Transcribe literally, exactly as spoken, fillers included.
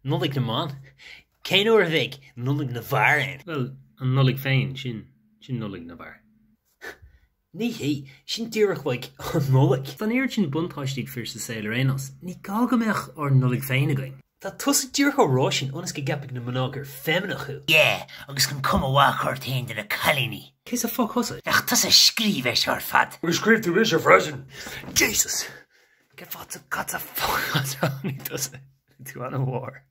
Nollaig na mban? Cén uair a bheidh Nollaig na bhfear ann? Bhuel, an Nollaig féin, sin sin Nollaig na bhfear. Ní hé, sin díreach like an Nollaig. Tá an oiread sin buntáistí ag fir sa saol ar aon nós, ní gá go mbeadh ár Nollaig féin againn. Tá tusa díreach á rá sin ionas go gceapfaidh na mná gur feimineach thú. Yeah, agus chun cuma mhaith a chur ort féin do na cailíní. Cé sa fuck thusa? Nach tusa a scríobh é seo ar fad. Agus scríobh tú mise freisin. Jesus! Cén fáth cad sa fuck as tháinig tusa? Tú an-mhór.